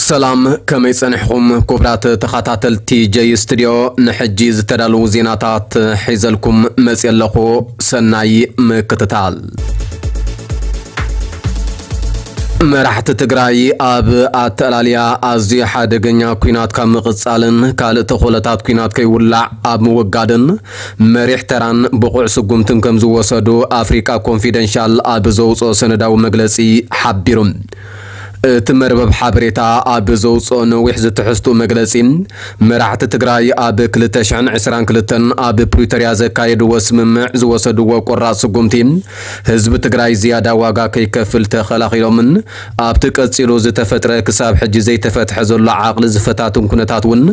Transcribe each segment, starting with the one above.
ሰላም፣ ከመይ ጸኒሕኹም ክቡራት ተኸታተልቲ ጀይ ስቱድዮ? ንሕጂ ዝተዳለዉ ዜናታት ሒዘልኩም መጽየ ኣለኹ። ሰናይ ምክትታል። መራሕቲ ትግራይ ኣብ ኣተላልያ ኣዝዩ ሓደገኛ ኲናት ካብ ምቕጻልን ካልእ ተኽእሎታት ኲናት ከይውላዕ ኣብ ምውጋድን መሪሕ ተራን ብቑዕ ስጉምትን ከም ዝወሰዱ ኣፍሪቃ ኮንፊደንሻል ኣብ ዘውፅኦ ሰነዳዊ መግለጺ ሓቢሩ። እቲ መርበብ ሓበሬታ ኣብ ዘውፅኦ ነዊሕ ዝትሕዝቱ መግለጺ፣ መራሕቲ ትግራይ ኣብ ክልተ ሽሕን ዕስራን ክልተን ኣብ ፕሪቶርያ ዘካየድዎ ስምምዕ ዝወሰድዎ ቆራፅ ስጉምቲ፣ ህዝቢ ትግራይ ዝያዳ ዋጋ ከይከፍል ተኸላኺሎምን ኣብቲ ቀፂሉ ዝተፈጥረ ክሳብ ሕጂ ዘይተፈትሐ ዘሎ ዓቕሊ ዝፈታትን ኩነታት እውን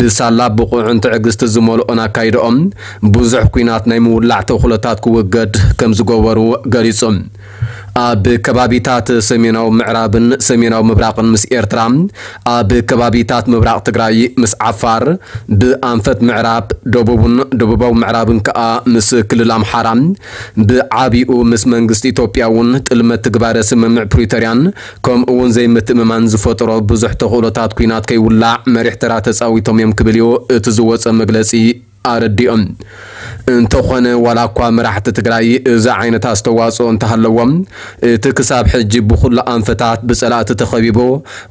ብሳላ ብቑዕን ትዕግስቲ ዝመልኦን ኣካይድኦም ብዙሕ ኲናት ናይ ምውላዕ ተኽእሎታት ክውገድ ከም ዝገበሩ ገሊፁ። ኣብ ከባቢታት ሰሜናዊ ምዕራብን ሰሜናዊ ምብራቕን ምስ ኤርትራ፣ ኣብ ከባቢታት ምብራቕ ትግራይ ምስ ዓፋር፣ ብኣንፈት ምዕራብ ደቡብን ደቡባዊ ምዕራብን ከኣ ምስ ክልል ኣምሓራ፣ ብዓቢኡ ምስ መንግስቲ ኢትዮጵያ እውን ጥልመት ትግባረ ስምምዕ ፕሪቶርያን ከምኡ እውን ዘይምትእምማን ዝፈጠሮ ብዙሕ ተኽእሎታት ኲናት ከይውላዕ መሪሕ ተራ ተጻዊቶም እዮም ክብል እዩ እቲ ዝወጸ መግለጺ ኣረዲኦም። እንተኾነ ዋላ እኳ መራሕቲ ትግራይ እዚ ዓይነት ኣስተዋጽኦ እንተሃለዎም፣ እቲ ክሳብ ሕጂ ብኹሉ ኣንፈታት ብጸላእቲ ተኸቢቡ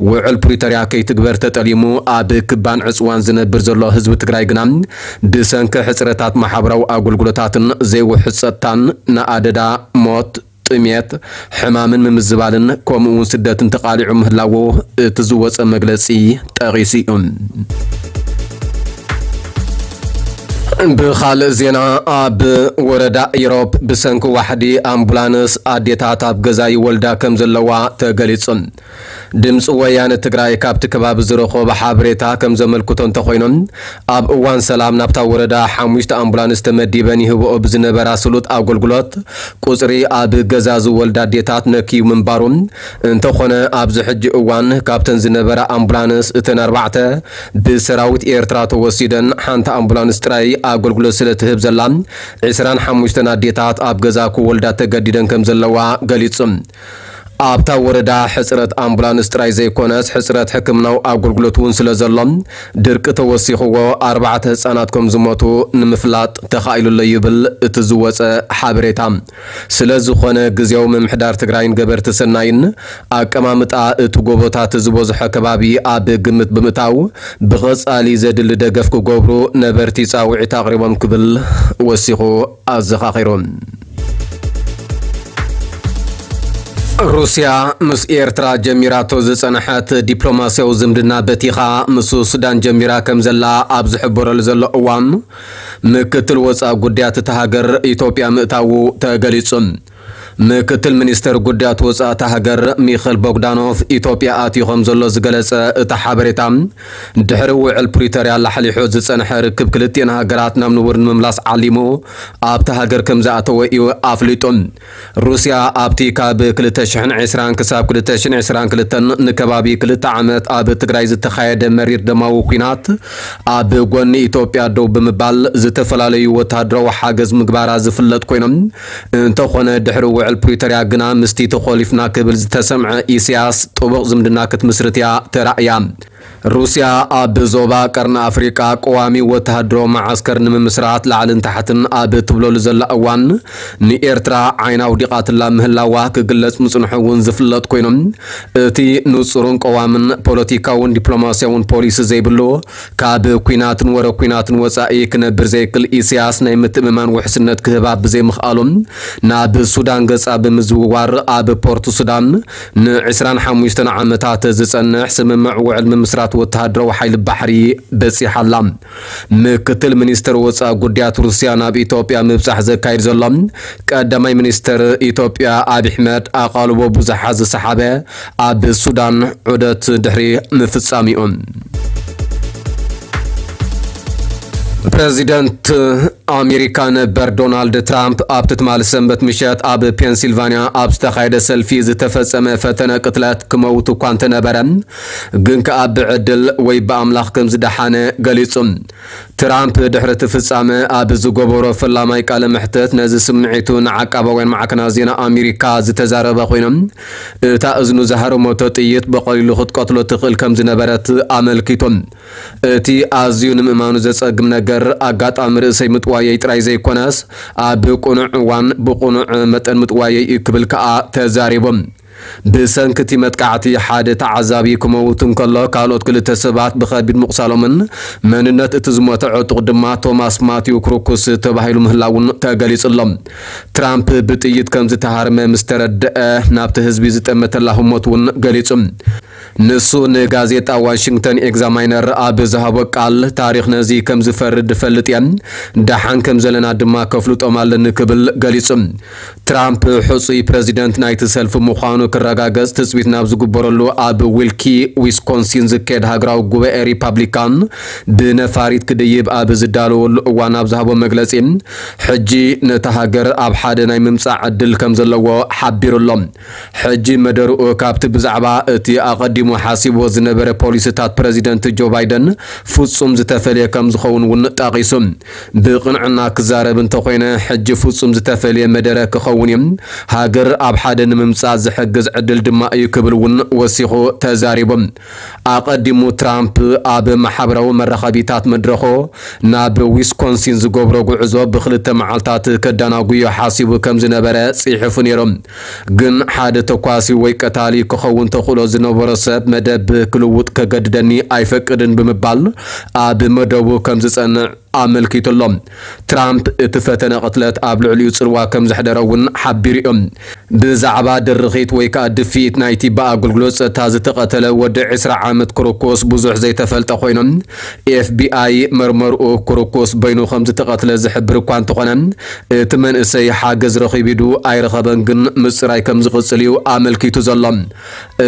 ውዕል ፕሪቶርያ ከይትግበር ተጠሊሙ ኣብ ክባን ዕጽዋን ዝነብር ዘሎ ህዝቢ ትግራይ ግና ብሰንኪ ሕጽረታት ማሕበራዊ ኣገልግሎታትን ዘይውሑስ ጸጥታን ንኣደዳ፣ ሞት፣ ጥሜት፣ ሕማምን ምምዝባልን ከምኡ እውን ስደትን ተቓሊዑ ምህላዉ እቲ ዝወጸ መግለጺ ጠቒሱ እዩ። ብኻልእ ዜና፣ ኣብ ወረዳ ኢሮብ ብሰንኪ ዋሕዲ ኣምቡላንስ ኣዴታት ኣብ ገዛ ይወልዳ ከም ዘለዋ ተገሊጹ። ድምፂ ወያነ ትግራይ ካብቲ ከባቢ ዝረኸቦ ሓበሬታ ከም ዘመልክቶ እንተኾይኑ፣ ኣብ እዋን ሰላም ናብታ ወረዳ ሓሙሽተ ኣምቡላንስ ተመዲበን ይህብኦ ብዝነበራ ስሉጥ ኣገልግሎት ቁፅሪ ኣብ ገዛ ዝወልዳ ኣዴታት ነክዩ ምንባሩ፣ እንተኾነ ኣብዚ ሕጂ እዋን ካብተን ዝነበራ ኣምቡላንስ እተን ኣርባዕተ ብሰራዊት ኤርትራ ተወሲደን ሓንቲ ኣምቡላንስ ጥራይ ኣገልግሎት ስለ ትህብ ዘላ ዕስራን ሓሙሽተን ኣዴታት ኣብ ገዛ ክወልዳ ተገዲደን ከም ዘለዋ ገሊጹ። ኣብታ ወረዳ ሕጽረት ኣምቡላንስ ጥራይ ዘይኮነስ ሕጽረት ሕክምናዊ ኣገልግሎት እውን ስለ ዘሎ ድርቂ ተወሲኽዎ ኣርባዕተ ህጻናት ከም ዝሞቱ ንምፍላጥ ተኻኢሉ ኣሎ ይብል እቲ ዝወጸ ሓበሬታ። ስለ ዝኾነ ግዜያዊ ምምሕዳር ትግራይን ገበርቲ ሰናይን ኣቀማምጣ እቲ ጎቦታት ዝበዝሖ ከባቢ ኣብ ግምት ብምእታው ብቐጻሊ ዘድሊ ደገፍ ክገብሩ ነበርቲ ጻውዒት ኣቕሪቦም ክብል ወሲኹ ኣዘኻኺሩ። ሩስያ ምስ ኤርትራ ጀሚራቶ ዝጸንሐት ዲፕሎማስያዊ ዝምድና በቲኻ ምስ ሱዳን ጀሚራ ከም ዘላ ኣብ ዝሕበረሉ ዘሎ እዋን፣ ምክትል ወጻኢ ጉዳያት እታ ሃገር ኢትዮጵያ ምእታዉ ተገሊጹ። ምክትል ሚኒስተር ጉዳያት ወጻኢ እታ ሃገር ሚኸል ቦግዳኖቭ ኢትዮጵያ ኣትዩ ከም ዘሎ ዝገለጸ እቲ ሓበሬታ፣ ድሕሪ ውዕል ፕሪቶርያ ላሕሊሑ ዝጸንሐ ርክብ ክልቲኤን ሃገራት ናብ ንቡር ንምምላስ ዓሊሙ ኣብታ ሃገር ከም ዝኣተወ እዩ ኣፍሊጡ። ሩስያ ኣብቲ ካብ ክልተ ሽሕን ዕስራን ክሳብ ክልተ ሽሕን ዕስራን ክልተን ንከባቢ ክልተ ዓመት ኣብ ትግራይ ዝተኻየደ መሪር ደማዊ ኲናት ኣብ ጎኒ ኢትዮጵያ ደው ብምባል ዝተፈላለዩ ወተሃደራዊ ሓገዝ ምግባራ ዝፍለጥ ኮይኖም፣ እንተኾነ ድሕሪ ውዕል ፕሪቶርያ ግና ምስቲ ተኾሊፍና ክብል ዝተሰምዐ ኢሳያስ ጥቡቕ ዝምድና ክትምስርት እያ ተራእያ። ሩስያ ኣብ ዞባ ቀርኒ ኣፍሪቃ ቀዋሚ ወተሃደራዊ መዓስከር ንምምስራት ላዕልን ታሕትን ኣብ ትብለሉ ዘላ እዋን፣ ንኤርትራ ዓይና ኣውዲቓትላ ምህላዋ ክግለጽ ምጽንሑ እውን ዝፍለጥ ኮይኖም፣ እቲ ንጹርን ቀዋምን ፖለቲካውን ዲፕሎማስያውን ፖሊሲ ዘይብሉ፣ ካብ ኲናትን ወረ ኲናትን ወጻኢ ክነብር ዘይክል ኢሳያስ ናይ ምትእምማን ውሕስነት ክህባ ብዘይምኽኣሉ፣ ናብ ሱዳን ገጻ ብምዝውዋር ኣብ ፖርት ሱዳን ንዕስራን ሓሙሽተን ዓመታት ዝጸንሕ ስምምዕ ውዕል ምምስራት ወተሃደራዊ ሓይሊ ባሕሪ በጺሓ ኣላ። ምክትል ሚኒስተር ወጻኢ ጉዳያት ሩስያ ናብ ኢትዮጵያ ምብጻሕ ዘካይድ ዘሎ ቀዳማይ ሚኒስተር ኢትዮጵያ ኣብይ ኣሕመድ ኣቓልቦ ብዙሓት ዝሰሓበ ኣብ ሱዳን ዑደት ድሕሪ ምፍጻሚኡ። ፕረዚደንት ኣሜሪካ ነበር ዶናልድ ትራምፕ ኣብቲ ትማሊ ሰንበት ምሸት ኣብ ፔንሲልቫንያ ኣብ ዝተኻየደ ሰልፊ ዝተፈጸመ ፈተነ ቅትለት ክመውት እኳ እንተነበረ፣ ግን ከኣ ብዕድል ወይ ብኣምላኽ ከም ዝደሓነ ገሊጹ። ትራምፕ ድሕሪ እቲ ፍጻመ ኣብ ዝገበሮ ፈላማይ ቃለ መሕትት ነዚ ስምዒቱ ንዓቃባውያን ማዕከናት ዜና ኣሜሪካ ዝተዛረበ ኮይኑ፣ እታ እዝኑ ዝሃረመቶ ጥይት ብቐሊሉ ክትቀትሎ ትኽእል ከም ዝነበረት ኣመልኪቱ። እቲ ኣዝዩ ንምእማኑ ዘጸግም ነገር፣ ኣጋጣሚ ርእሰይ ምጥዋየይ ጥራይ ዘይኮነስ፣ ኣብ ቅኑዕ እዋን ብቕኑዕ መጠን ምጥዋየይ እዩ ክብል ከኣ ተዛሪቡ። ብሰንኪ እቲ መጥቃዕቲ ሓደ ተዓዛቢ ክመውት እንከሎ፣ ካልኦት ክልተ ሰባት ብኸቢድ ምቑሳሎምን መንነት እቲ ዝሞተ ዕጡቕ ድማ ቶማስ ማቲው ክሩኩስ ተባሂሉ ምህላውን ተገሊጹ ኣሎ። ትራምፕ ብጥይት ከም ዝተሃርመ ምስ ተረድአ፣ ናብቲ ህዝቢ ዝጠመተ ላህሞት እውን ገሊጹ። ንሱ ንጋዜጣ ዋሽንግተን ኤግዛማይነር ኣብ ዝሃቦ ቃል፣ ታሪኽ ነዚ ከም ዝፈርድ እፈልጥ እየ፣ ደሓን ከም ዘለና ድማ ከፍልጦም ኣለኒ ክብል ገሊጹ። ትራምፕ ሕጹይ ፕረዚደንት ናይቲ ሰልፊ ምዃኑ ክረጋገጽ ትጽቢት ናብ ዝግበረሉ ኣብ ዊልኪ ዊስኮንሲን ዝካየድ ሃገራዊ ጉባኤ ሪፓብሊካን ብነፋሪት ክድይብ ኣብ ዝዳለወሉ እዋን ኣብ ዝሃቦ መግለጺ፣ ሕጂ ነታ ሃገር ኣብ ሓደ ናይ ምምጻእ ዕድል ከም ዘለዎ ሓቢሩ ኣሎ። ሕጂ መደርኡ ካብቲ ብዛዕባ እቲ ኣቐዲሙ ሓሲብዎ ዝነበረ ፖሊሲታት ፕረዚደንት ጆ ባይደን ፍጹም ዝተፈልየ ከም ዝኸውን እውን ጠቒሱ። ብቕንዕና ክዛረብ እንተኾይነ፣ ሕጂ ፍጹም ዝተፈልየ መደረ ክኸውን እዩ። ሃገር ኣብ ሓደ ንምምጻእ ዝሕግዝ ዕድል ድማ እዩ ክብል እውን ወሲኹ ተዛሪቡ። ኣቐዲሙ ትራምፕ ኣብ ማሕበራዊ መራኸቢታት መድረኹ ናብ ዊስኮንሲን ዝገብሮ ጉዕዞ ብኽልተ መዓልታት ከዳናጉዮ ሓሲቡ ከም ዝነበረ ጽሒፉ ነይሩ። ግን ሓደ ተኳሲ ወይ ቀታሊ ክኸውን ተኽእሎ ዝነበሮ ሰብ መደብ ክልውጥ ከገድደኒ ኣይፈቅድን ብምባል ኣብ መደቡ ከም ዝጸንዕ ኣመልኪቱ ኣሎ። ትራምፕ እቲ ፈተነ ቅትለት ኣብ ልዕሊኡ ጽልዋ ከም ዘሕደረ እውን ሓቢሩ እዩ። ብዛዕባ ድርኺት ወይ ከኣ ድፍኢት ናይቲ ብኣገልግሎት ጸጥታ ዝተቐተለ ወዲ ዕስራ ዓመት ክሩኩስ ብዙሕ ዘይተፈልጠ ኮይኑ፣ ኤፍቢኣይ መርመርኡ ክሩኩስ በይኑ ከም ዝተቐትለ ዝሕብር እኳ እንተኾነ፣ እቲ መንእሰይ ሓገዝ ረኺቡ ዱ ኣይረኸበን ግን ምጽራይ ከም ዝቕጽል እዩ ኣመልኪቱ ዘሎ።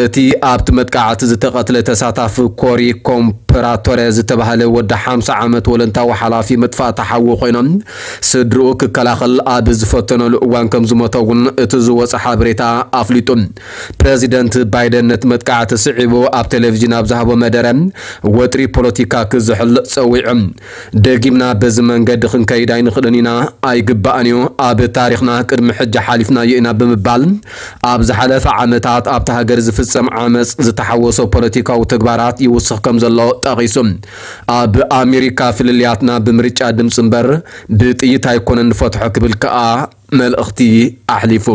እቲ ኣብቲ መጥቃዕቲ ዝተቐትለ ተሳታፊ ኮሪ ኮምፕራቶረ ዝተባህለ ወዲ ሓምሳ ዓመት ወለንታዊ ሓላፊ መጥፋእቲ ሓዊ ኮይኖም፣ ስድርኡ ክከላኸል ኣብ ዝፈተነሉ እዋን ከም ዝሞተ እውን እቲ ዝወጸ ሓበሬታ ኣፍሊጡ። ፕረዚደንት ባይደን ነቲ መጥቃዕቲ ስዒቡ ኣብ ቴሌቪዥን ኣብ ዝሃቦ መደረ፣ ወጥሪ ፖለቲካ ክዝሕል ጸዊዑ። ደጊምና በዚ መንገዲ ክንከይድ ኣይንኽእልን ኢና፣ ኣይግባእን እዩ፣ ኣብ ታሪኽና ቅድሚ ሕጂ ሓሊፍናዮ ኢና ብምባል፣ ኣብ ዝሓለፈ ዓመታት ኣብታ ሃገር ዝፍጸም ዓመጽ ዝተሓወሶ ፖለቲካዊ ተግባራት ይውስኽ ከም ዘሎ ጠቒሱ። ኣብ ኣሜሪካ ፍልልያትና ብምርጫ ድምጺ እምበር ብጥይት ኣይኮነን ንፈትሖ ክብል ከኣ መልእኽቲ ኣሕሊፉ።